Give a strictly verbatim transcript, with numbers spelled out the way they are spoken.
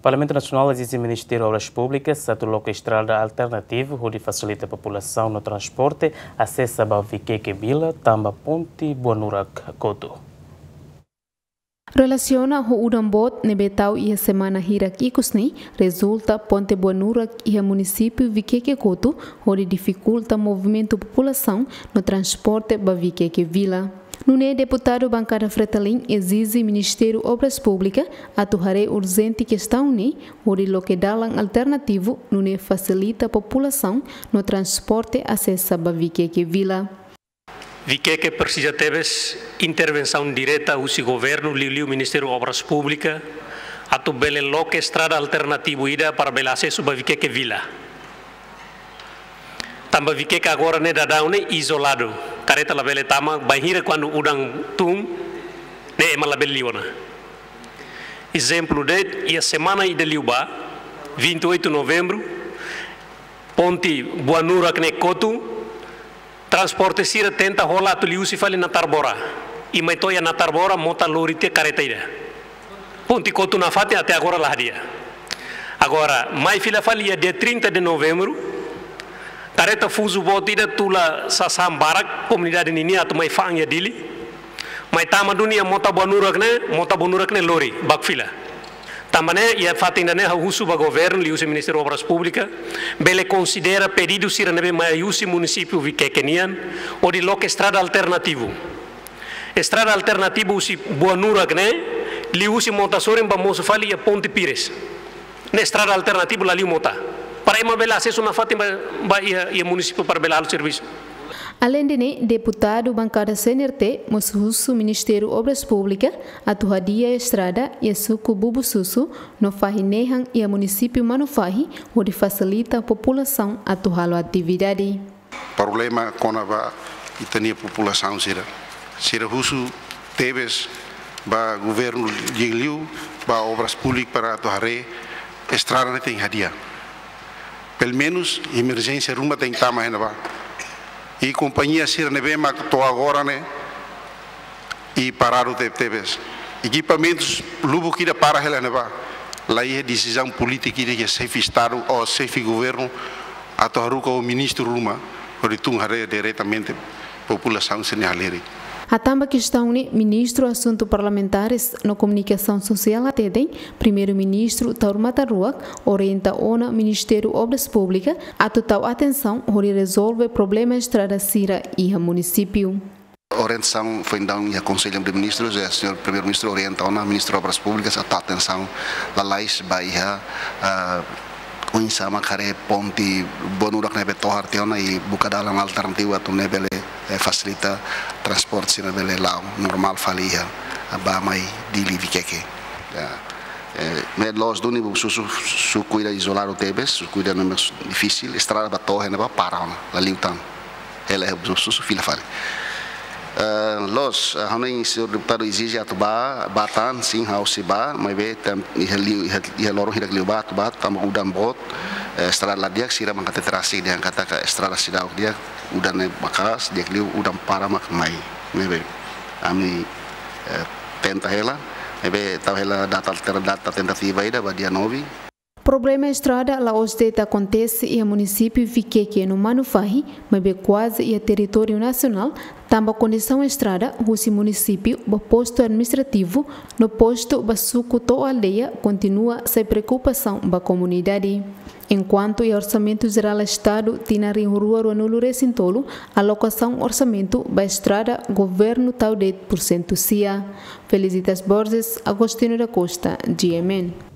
Parlamentu Nasionál ezije Ministériu Obras Públikas atu loke estrada alternativu hodi fasilita populasaun no transporte asesa ba Vikeke Vila tanba ponte Buanurak kotu. Relasiona ho udan boot ne'ebé tau iha semana hirak ikus ne'e, rezulta ponte Buanurak iha munisípiu Vikeke kotu, hodi difikulta movimentu populasaun no transporte ba Vikeke Vila. Nune'e deputadu bankada Fretilin ezije Ministériu Obras Públikas atu haree urjente kestaun ne'e, hodi loke dalan alternativu, nune'e fasilita populasaun no transporte asesa ba Vikeke Vila. Vikeke presiza tebes intervensaun direta husi governu, liuliu Ministériu Obras Públikas, atu bele loke estrada alternativu ida para bele asesu ba Vikeke Vila. Tanba Vikeke agora ne'e daudaun ne'e izoladu. Kareta labele tama, bainhira kuandu udan tun, ne'e ema labele liu ona. Ezemplu de'it, iha semana ida liubá, vinte e oito novembru, ponte Buanurak ne'e kotu, transporte sira tenta hola atu liuhusi fali Natarbora. I mai to'o iha Natarbora, mota lori tiha kareta ida. Ponte kotu nafatin até agora la hadi'a. Agora, mai fila fali iha dia trinta de novembru, kareta fuzu boot ida tula sasán barak, komunidade ninian atu mai fa'an iha Dili. Mai tama duni iha mota Buanurak ne'e, mota Buanurak ne'e lori, baku fila. Tanba ne'e, iha fatin ida-ne'e ha'u husu ba governu, liuhusi Ministériu Obras Públikas, bele konsidera pedidu sira ne'ebé mai husi munisípiu Vikeke nian, hodi loke estrada alternativu. Estrada alternativu husi Buanurak ne'e, liuhusi mota sorin bá mosu fali iha ponte Pires. Ne'e estrada alternativu la liu mota. Para ema bele asesu nafatin ba, ba iha, iha munisípiu para bele halo servisu. Aleinde ne'e, deputadu bankada C N R T mós husu Ministériu Obras Públikas atu hadi'a estrada iha suku Bubususu no fahi nehan iha munisípiu Manufahi, hodi fasilita populasaun atu halo atividade. Problema kona-ba ita-nia populasaun sira. Sira husu tebes ba governu, liuliu ba Obras Públikas para atu haree estrada ne'e tenke hadi'a. Pelumenus emerjénsia ruma tenke tama iha ne'ebá. I kompañia sira ne'ebé mak to'o agora ne'e i paradu tebetebes. Ekipamentus lubuk ida para hela iha ne'ebá. La iha desizaun polítika ida iha xefe Estadu ou xefe governu atu haruka ho ministru ruma, hodi tun haree diretamente populasaun sira-nia halerik. Hatán ba kestaun ne'e, Ministru Asuntu Parlamentares no Komunikasaun Sosiál hateten, Primeiru-Ministru Taur Matan Ruak orienta ona Ministériu Obras Públikas atu tau atensaun hodi rezolve problema estrada sira iha munisípiu. Orientasaun foin daudaun iha Konsellu de Ministrus, eh, señór Primeiru-Ministru orienta ona Ministru Obras Públikas atu tau atensaun lalais ba iha, ah, oinsá mak haree ponte Buanurak ne'ebé tohar tiha ona i buka dalan alternativu atu nune'e bele, eh, fasilita transporte sira bele la'o normál fali iha, ah, bá mai Dili Vikeke. Ya. Eh, ne'e loos duni Bubususu, suku ida izoladu tebes, suku ida ne'ebé difisil, estrada bá to'o iha ne'ebá para ona, la liu tan. Hela iha Bubususu fila fali. Eh, loos, eh, ha'u hanoin señór deputadu ezije atu bá, bá tan, sin, ha'u sei bá, maibé tan iha liu, iha, iha loron hirak liubá atu bá, tanba udan boot, eh, estrada la di'ak, sira mak hatete rasik dehan katak estrada seidauk di'ak, udan ne'e maka'as, di'ak liu udan para mak mai. Maibé ami, eh, tenta hela, maibé tau hela data alter-, data tentativa ida ba dia nove. Problema estrada la'ós de'it akontese iha munisípiu Vikeke no Manufahi, maibé kuaze iha territóriu nasionál, tanba kondisaun estrada husi munisípiu ba postu administrativu no postu ba suku to'o aldeia kontinua sai preokupasaun ba komunidade. Enkuantu iha Orsamentu Jerál Estadu tinan rihun rua ruanulu-resin-tolu, alokasaun orsamentu ba estrada governu tau de'it pursentu sia. Felicitas Borges, Agostinho da Costa, G M N.